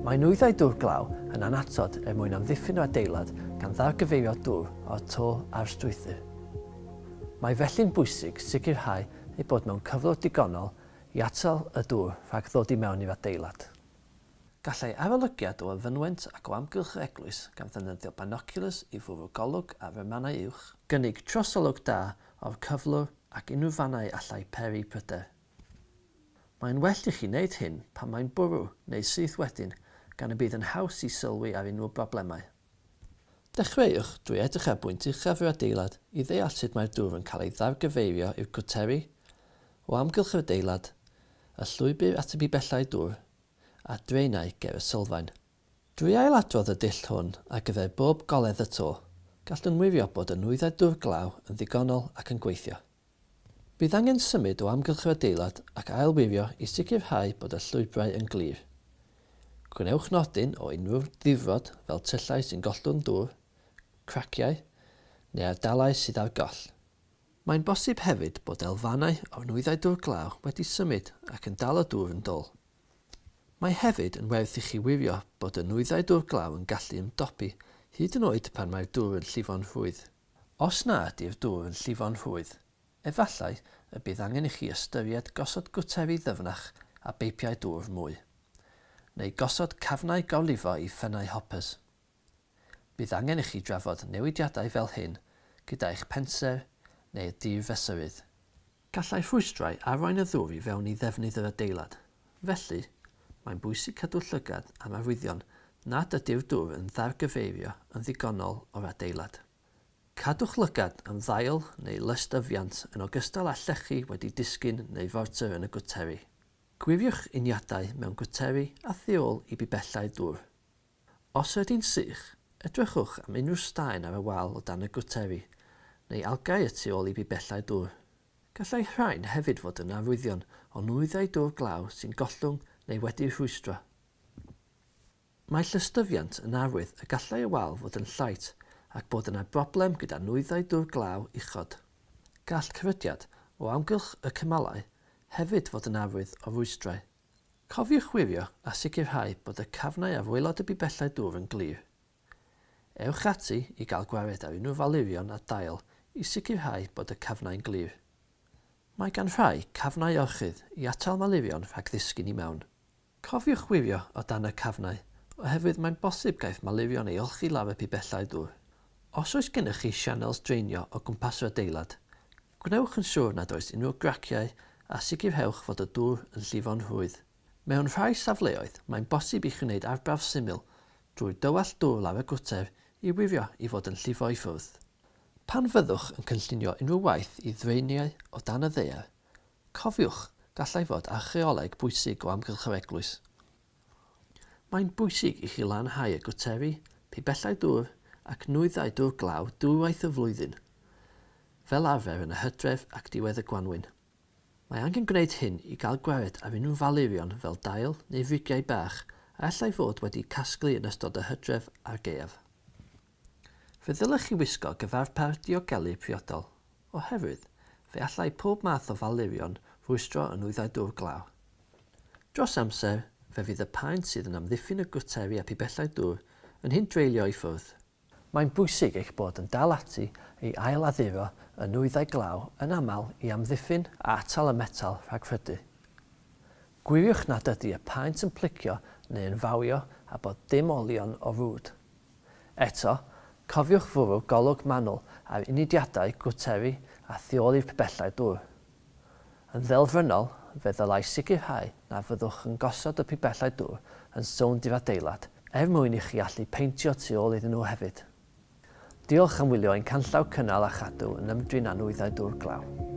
Mae nwyddau dŵr glaw yn annatod er mwyn amddiffyn yr adeilad gan ddargyfeirio dŵr o'r to a'r strwythur. Mae felly'n bwysig sicrhau eu bod mewn cyflwr digonol i atal y dŵr rhag ddod i mewn i'r adeilad. Gallai arolygiad o'r fynwent ac o amgylch yr eglwys gan ddefnyddio binoculars i fwrw golwg ar y mannau uwch, gynnig trosolwg da o'r cyflwr ac unrhyw fannau allai peri pryder. Mae'n well i chi wneud hyn pan mae'n bwrw neu syth wedyn, gan y bydd yn haws i sylwi ar unrhyw broblemau. Dechreuwch drwy edrych ar bwynt uchaf yr adeilad i ddeall sut mae'r dŵr yn cael ei ddargyfeirio i'r cwteri, o amgylch yr adeilad, y llwybr at y pibellau dŵr, a draenau ger y sylfaen. Drwy ailadrodd y dull hwn ar gyfer bob goledd y to, gallwn wirio bod y nwyddau dŵr glaw yn ddigonol ac yn gweithio. Bydd angen symud o amgylch yr adeilad ac ailwirio i sicrhau bod y llwybrau yn glir. Gwnewch nodyn o unrhyw ddifrod fel tyllau sy'n gollwng dŵr, craciau, neu ardalau sydd ar goll. Mae'n bosib hefyd bod elfennau o'r nwyddau dŵr glaw wedi symud ac yn dal y dŵr yn dôl. Mae hefyd yn werth i chi wirio bod y nwyddau dŵr glaw yn gallu ymdopi hyd yn oed pan mae'r dŵr yn llifo'n rhwydd. Os na ydy'r dŵr yn llifo'n rhwydd, efallai y bydd angen i chi ystyried gosod gwteri ddyfnach a beipiau dŵr mwy, neu gosod cafnau gorlifo i ffynnau hoppers. Bydd angen i chi drafod newidiadau fel hyn gyda eich pensaer neu'r dirfesurydd. Gallai rhwystrau arwain y ddŵr i fewn i ddefnydd yr adeilad. Felly, mae'n bwysig cadw llygad am arwyddion nad ydy'r dŵr yn ddargyfeirio yn ddigonol o'r adeilad. Cadwch lygad am ddail neu lystyfiant yn ogystal â llechi wedi disgyn neu forter yn y gwteri. Gwiriwch uniadau mewn gwteri a thu ôl i bibellau dŵr. Os ydy'n sych, edrychwch am unrhyw staen ar y wal o dan y gwteri, neu algau y tu ôl i bibellau dŵr. Gallai rhain hefyd fod yn arwyddion o nwyddau dŵr glaw sy'n gollwng neu wedi'u rhwystro. Mae llystyfiant yn arwydd y gallai y wal fod yn llaith ac bod yna broblem gyda nwyddau dŵr glaw uchod. Gall cyrydiad o amgylch y cymalau hefyd fod yn arwydd o rwystrau. Cofiwch wirio a sicrhau bod y cafnau ar waelod y bibellau dŵr yn glir. Ewch ati i gael gwared ar unrhyw falurion a dail i sicrhau bod y cafnau'n glir. Mae gan rhai cafnau orchudd i atal malurion rhag ddisgyn i mewn. Cofiwch wirio o dan y cafnau, oherwydd mae'n bosib gaiff malurion ei olchi lawr y pibellau dŵr. Os oes gennych chi sianels draenio o gwmpas yr adeilad, gwnewch yn siŵr nad oes unrhyw graciau a sicrhewch fod y dŵr yn llifo'n rhwydd. Mewn rhai safleoedd, mae'n bosib i chi wneud arbrawf syml drwy dywallt dŵr lawr y gwter i wirio i fod yn llifo i ffwrdd. Pan fyddwch yn cynllunio unrhyw waith i ddraeniau o dan y ddaear, cofiwch gallai fod archeoleg bwysig o amgylch yr eglwys. Mae'n bwysig i chi lanhau y gwteri, pibellau dŵr ac nwyddau dŵr glaw dwywaith y flwyddyn, fel arfer yn y hydref ac diwedd y gwanwyn. Mae angen gwneud hyn i gael gwared ar unrhyw falurion fel dail neu frigiau bach a allai fod wedi casglu yn ystod y hydref a'r gaeaf. Fe ddylech chi wisgo gyfarpar diogelu priodol, oherwydd fe allai pob math o falurion rwystro y nwyddau dŵr glaw. Dros amser, fe fydd y paent sydd yn amddiffyn y gwteri a pibellau dŵr yn hindreulio i ffwrdd. Mae'n bwysig eich bod yn dal ati i ailadduro y nwyddau glaw yn aml i amddiffyn a atal y metal rhag rhydu. Gwiriwch nad ydy y paent yn plicio neu yn fawio a bod dim olion o rwd. Eto, cofiwch fwrw golwg manwl ar unidiadau gwteri a thu ôl i'r pibellau dŵr. Yn ddelfrynol, fe ddylai sicrhau na fyddwch yn gosod y pibellau dŵr yn sownd i'r adeilad, er mwyn i chi allu peintio tu ôl iddyn nhw hefyd. Diolch am wylio ein canllaw cynnal a chadw yn ymdrin â nwyddau dŵr glaw.